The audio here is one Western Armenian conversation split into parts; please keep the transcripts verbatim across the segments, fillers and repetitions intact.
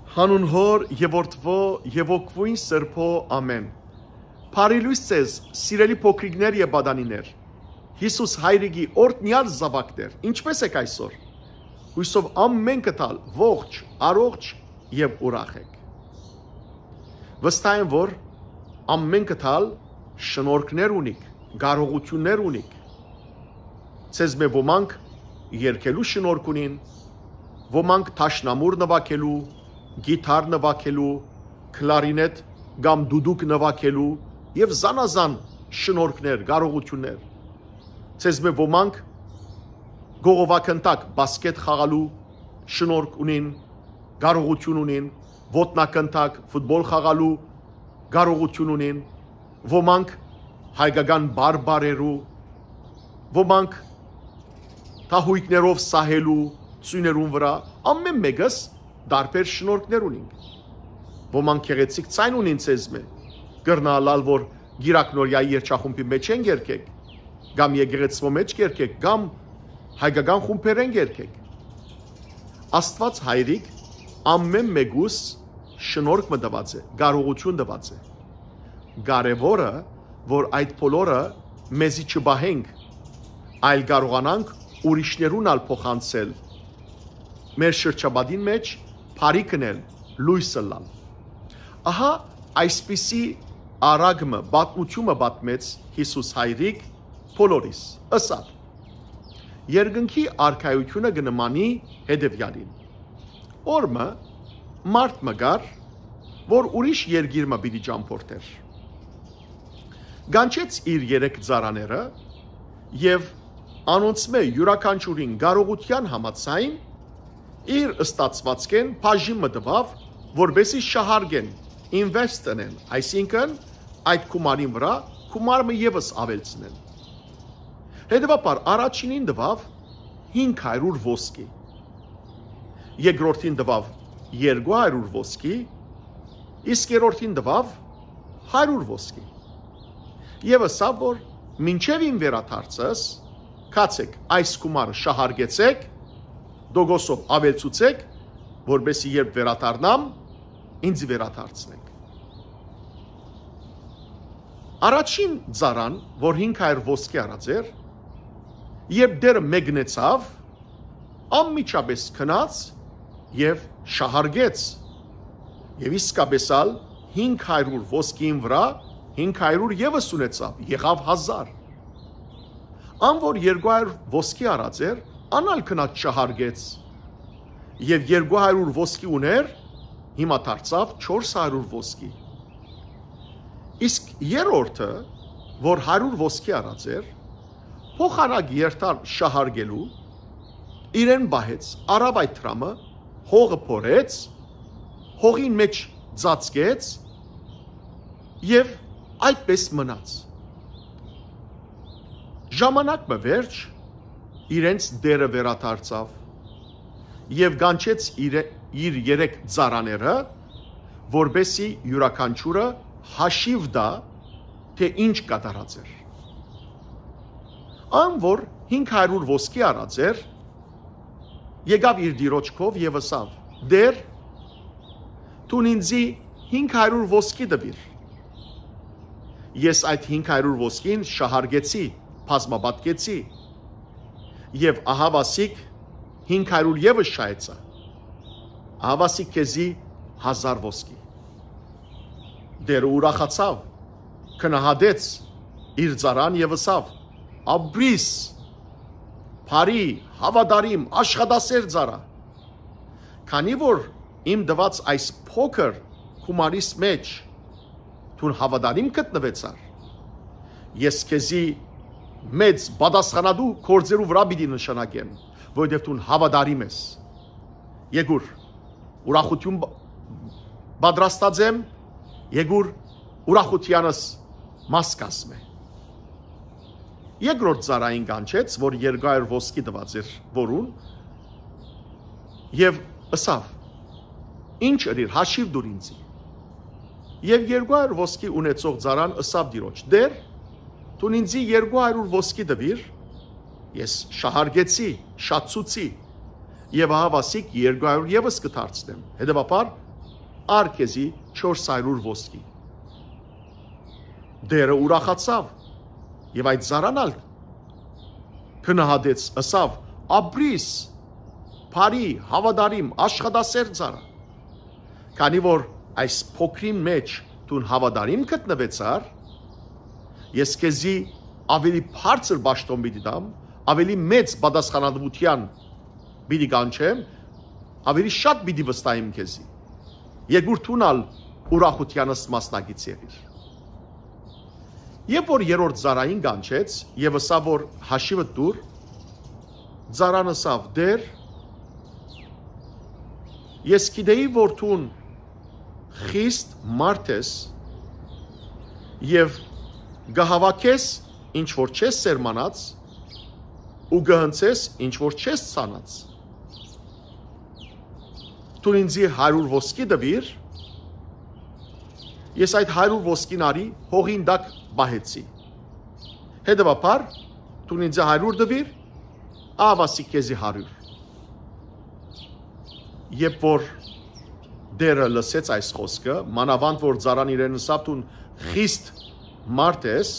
Հանուն Հօր եւ Որդւոյ եւ Հոգւոյն Սրբոյ, ամէն։ Բարի լոյս ձեզ, սիրելի փոքրիկներ եւ պատանիներ։ Յիսուս Հայրիկի օրհնեալ զաւակներ, ինչպէս եք այսօր։ Յուսով ամէնքդ ալ ողջ, առողջ եւ ուրախ եք։ Վստահ եմ, որ ամէնքդ ալ շնորհքներ ունիք, կարողութիւններ ունիք։ Ձեզմէ ոմանք երգելու շնորհք ունին, ոմանք դաշնամուր նուագելու, կիթառ նուագելու, քլարինետ կամ դուդուկ նուագելու եւ զանազան շնորհքներ, կարողութիւններ։ Ձեզմէ ոմանք կողովագնդակ, բասկետ խաղալու շնորհք ունին, կարողութիւն ունին, ոտնակնդակ, ֆուտբոլ խաղալու կարողութիւն ունին, ոմանք հայկական պար պարերու, ոմանք թահոյկներով սահելու ծոյներուն վրայ, ամէն մէկս տարբեր շնորհքներ ունինք։ Ոմանք գեղեցիկ ձայն ունին ձեզմէ, կրնայ ըլլալ, որ Կիրակնորիայի երգչախումբի մէջ են երգեք, կամ եկեղեցւոյ մէջ երգեք, կամ հայկական խումբերէն երգեք։ Աստուած Հայրիկ ամէն մէկուս շնորհք մը տուած է, կարողութիւն տուած է։ Կարեւորը, որ այդ բոլորը մեզի չպահենք, այլ կարողանանք ուրիշներուն ալ փոխանցել, մեր շրջապատին մէջ բարի կնել, լոյս ըլլալ։ Ահա այսպիսի արագ մը, պատմութիւն մը պատմեց Յիսուս Հայրիկ բոլորիս, ըսաւ. «Երկնքի արքայութիւնը կը նմանի հետեւեալին։ Օր մը մարդ մը կար, որ ուրիշ երկիր մը պիտի ճամբորդէր։ Կանչեց իր երեք ծառաները եւ անոնցմէ իւրաքանչիւրին կարողութեան համաձայն իր ստացուածքէն բաժին մը տուաւ, որպէսզի շահարկեն, invest ընեն, այսինքն՝ այդ գումարին վրայ գումար մը եւս աւելցնեն։ Հետեւաբար առաջինին տուաւ հինգ հարիւր ոսկի, երկրորդին տուաւ երկու հարիւր ոսկի, իսկ երրորդին տուաւ հարիւր ոսկի։ Եւ ըսաւ, որ մինչեւ իմ վերադարձս գացեք, այս գումարը շահարկեցեք, տոկոսով աւելցուցեք, որպէսզի երբ վերադառնամ, ինձի վերադարձնեք»։ Առաջին ծառան, որ հինգ հարիւր ոսկի առած էր, երբ դերը մեկնեցաւ, անմիջապէս գնաց եւ շահարկեց, եւ իսկապէս ալ հինգ հարիւր ոսկիին վրայ հինգ հարիւր եւս ունեցաւ, եղաւ հազար։ Ան, որ երկու հարիւր ոսկի առած էր, ան ալ գնաց շահարկեց, եւ երկու հարիւր ոսկի ունէր, հիմա դարձաւ չորս հարիւր ոսկի։ Իսկ երրորդը, որ հարիւր ոսկի առած էր, փոխանակ երթար շահարկելու, իրեն պահեց, առաւ այդ դրամը, հողը փորեց, հողին մէջ ծածկեց եւ այդպէս մնաց։ Ժամանակ մը վերջ իրենց տէրը վերադարձաւ եւ կանչեց իրե-, իր երեք ծառաները, որպէսզի իւրաքանչիւրը հաշիւ տայ, թէ ինչ կատարած էր։ Ան, որ հինգ հարիւր ոսկի առած էր, եկաւ իր տիրոջ քով եւ ըսաւ. «Տէր, դուն ինձի հինգ հարիւր ոսկի տուիր։ Ես այդ հինգ հարիւր ոսկին շահարկեցի, բազմապատկեցի, եւ ահա վասիկ հինգ հարիւր եւս շահեցայ։ Ահա վասիկ քեզի հազար ոսկի»։ Տէրը ուրախացաւ, գնահատեց իր ծառան եւ ըսաւ. «Ապրիս, բարի, հաւատարիմ, աշխատասեր ծառայ։ Քանի որ իմ տուած այս փոքր գումարիս մէջ դուն հաւատարիմ գտնուեցար, ես քեզի մեծ պատասխանատու գործերու վրայ պիտի նշանակեմ, որովհետեւ դուն հաւատարիմ ես։ Եկուր, ուրախութիւն բ-, պատրաստած եմ, եկուր, ուրախութեանս մաս կազմե»։ Երկրորդ ծառային կանչեց, որ երկու հարիւր ոսկի տուած էր որուն, եւ ըսաւ. «Ինչ ըրիր, հաշիւ տուր ինձի»։ Եւ երկու հարիւր ոսկի ունեցող ծառան ըսաւ տիրոջ. «Տէր, դուն ինձի երկու հարիւր ոսկի տուիր, ես շահարկեցի, շատցուցի, եւ ահա վասիկ երկու հարիւր եւս կը դարձնեմ»։ Հետեւաբար "Առ քեզի չորս հարիւր ոսկի"։ Տէրը ուրախացաւ եւ այդ ծառան ալ գնահատեց, ըսաւ. "Ապրիս, բարի, հաւատարիմ, աշխատասեր ծառայ։ Քանի որ այս փոքրին մէջ դուն հաւատարիմ գտնուեցար, ես քեզի աւելի բարձր պաշտօն պիտի տամ, աւելի մեծ պատասխանատուութեան պիտի կանչեմ, աւելի շատ պիտի վստահեմ քեզի։ Եկուր դուն ալ ուրախութեանս մասնակից եղիր"։ Երբ որ երրորդ ծառային կանչեց եւ ըսաւ որ հաշիվը տուր, ծառան ըսաւ. "Տէր, ես գիտեի որ դուն խիստ մարդ ես եւ կը հաւաքես ինչ որ չես սերմանած ու կը հնցես ինչ որ չես ցանած։ Դուն ինձի հարիւր ոսկի տուիր, ես այդ հարիւր ոսկին արի հողին տակ պահեցի։ Հետեւաբար, դուն ինձի հարիւր տուիր, ահաւասիկ քեզի հարիւր"։ Երբ որ Տէրը լսեց այս խօսքը, մանաւանդ որ ծառան իրեն ըսաւ. "Դուն խիստ մարդ ես",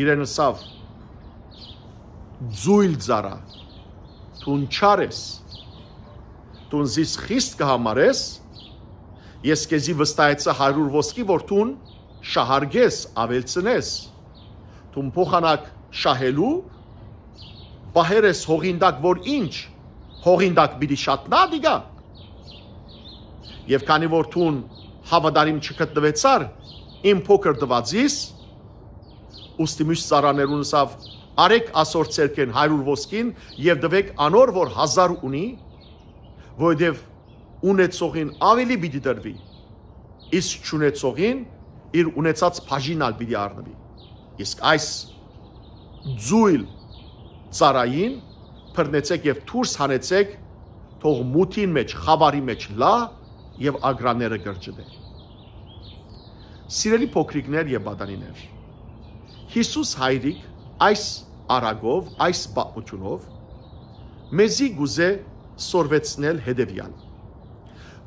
իրեն ըսաւ. "Ձոյլ ծառայ, դուն չար ես, դուն զիս խիստ կը համարես, ես քեզի վստահեցայ հարիւր ոսկի որ դուն շահարկես, աւելցնես, դուն փոխանակ շահելու, պահեր ես հողին տակ որ ինչ, հողին տակ պիտի շատնա դիկա։ Եւ քանի որ դուն հաւատարիմ չգտնուեցար իմ փոքր տուածիս, ուստի մյուս ծառաներուն ըսաւ. "Արեք ասոր ձեռքէն հարիւր ոսկին եւ տուէք անոր որ հազար ունի, որովհետեւ ունեցողին աւելի պիտի տրուի, իսկ չունեցողին իր ունեցած բաժինն ալ պիտի առնուի։ Իսկ այս ձոյլ ծառային բռնեցէք եւ դուրս հանեցէք, թող մութին մէջ, խաւարի մէջ լայ եւ ակռաները կրճտէ"։ Սիրելի փոքրիկներ եւ պատանիներ, Յիսուս Հայրիկ այս արագով, այս պատմութիւնով մեզի կուզէ սորվեցնել հետեւեալ,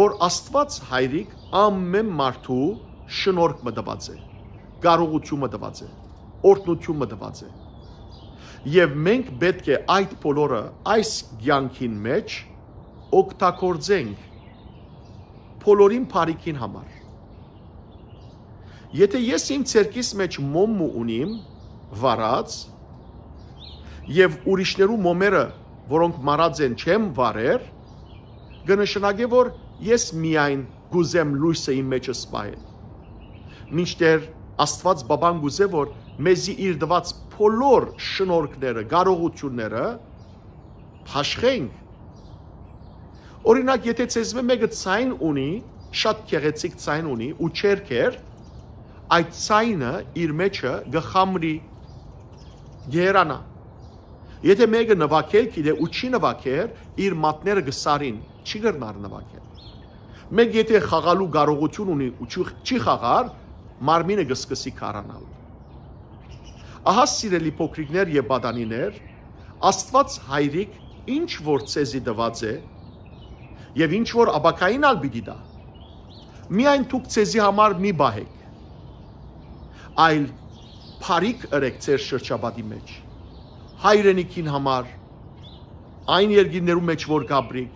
որ Աստուած Հայրիկ ամէն մարդու շնորհք մը տուած է, կարողութիւն մը տուած է, օրհնութիւն մը տուած է։ Եւ մենք պէտք է այդ բոլորը այս կեանքին մէջ օգտագործենք բոլորին բարիքին համար։ Եթէ ես իմ ձեռքիս մէջ մոմ մը ունիմ վառած, եւ ուրիշներու մոմերը, որոնք մարած են, չեմ վառեր, կը նշանակէ որ ես միայն կուզեմ լոյսը իմ մէջս պահել։ Մինչդեռ Աստուած Պապան կուզէ որ մեզի իր տուած բոլոր շնորհքները, կարողութիւնները բաշխենք։ Օրինակ, եթէ ձեզմէ մէկը ձայն ունի, շատ գեղեցիկ ձայն ունի ու չերգեր, այդ ձայնը իր մէջը կը խամրի, կը հեռանայ։ Եթէ մէկը նուագել գիտէ ու չի նուագեր, իր մատները կը սառին, չի կրնար նուագել։ Մէկ եթէ խաղալու կարողութիւն ունի ու չի, չի խաղար, մարմինը կը սկսի քարանալ։ Ահա, սիրելի փոքրիկներ եւ պատանիներ, Աստուած Հայրիկ ինչ որ ձեզի տուած է եւ ինչ որ ապագային ալ պիտի տայ, միայն դուք ձեզի համար մի պահէք, այլ բարիք ըրեք ձեր շրջապատի մէջ, հայրենիքին համար, այն երկիրներու մէջ որ կապրիք,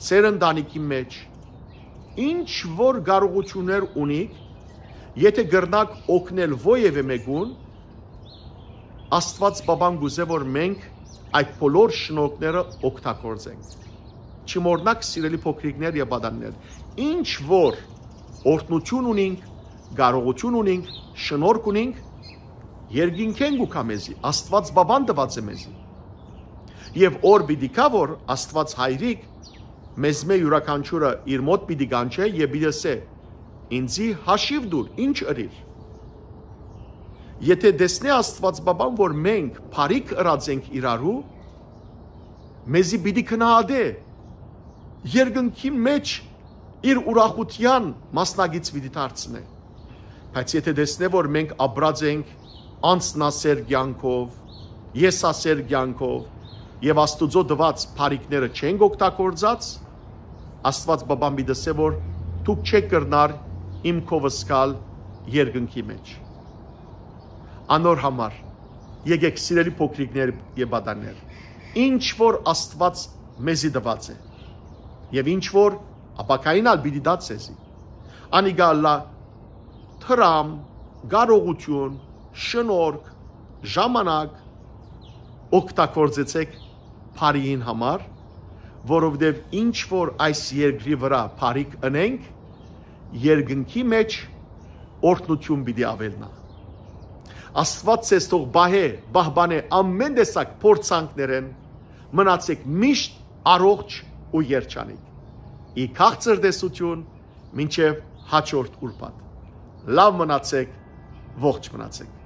ձեր ընտանիքին մէջ, ինչ որ կարողութիւններ ունիք, եթէ կրնաք օգնել որեւէ մէկուն, Աստուած Պապան կուզէ որ մենք այդ բոլոր շնորհքները օգտագործենք։ Չմոռնաք, սիրելի փոքրիկներ եւ պատանիներ, ինչ որ օրհնութիւն ունինք, կարողութիւն ունինք, շնորհք ունինք, երկինքէն կու գայ մեզի, Աստուած Պապան տուած է մեզի։ Եւ օր պիտի գայ որ Աստուած Հայրիկ մեզմէ իւրաքանչիւրը իր մօտ պիտի կանչէ եւ պիտի ըսէ. "Ինձի հաշիւ տուր, ինչ ըրիր"։ Եթէ տեսնէ Աստուած Պապան որ մենք բարիք ըրած ենք իրարու, մեզի պիտի գնահատէ, երկնքի մէջ իր ուրախութեան մասնակից պիտի դարձնէ։ Բայց եթէ տեսնէ որ մենք ապրած ենք անձնասեր կեանքով, եսասեր կեանքով եւ Աստուծոյ տուած բարիքները չենք օգտագործած, Աստուած Պապան պիտի ըսէ որ դուք չէք կրնար իմ քովս գալ երկնքի մէջ։ Անոր համար, եկեք, սիրելի փոքրիկներ եւ պատաններ, ինչ որ Աստուած մեզի տուած է, եւ ինչ որ ապագային ալ պիտի տայ ձեզի, անիկա ըլլայ դրամ, կարողութիւն, շնորհք, ժամանակ, օգտագործեցէք բարիին համար, որովհետեւ ինչ որ այս երկրի վրայ բարիք ընենք, երկնքի մէջ օրհնութիւն պիտի աւելնայ։ Աստուած ձեզ թող պահէ, պահպանէ ամէն տեսակ փորձանքներէն, մնացեք միշտ առողջ ու երջանիկ։ Ի քաղցր տեսութիւն, մինչեւ հաջորդ ուրբաթ։ Լաւ մնացեք, ողջ մնացեք։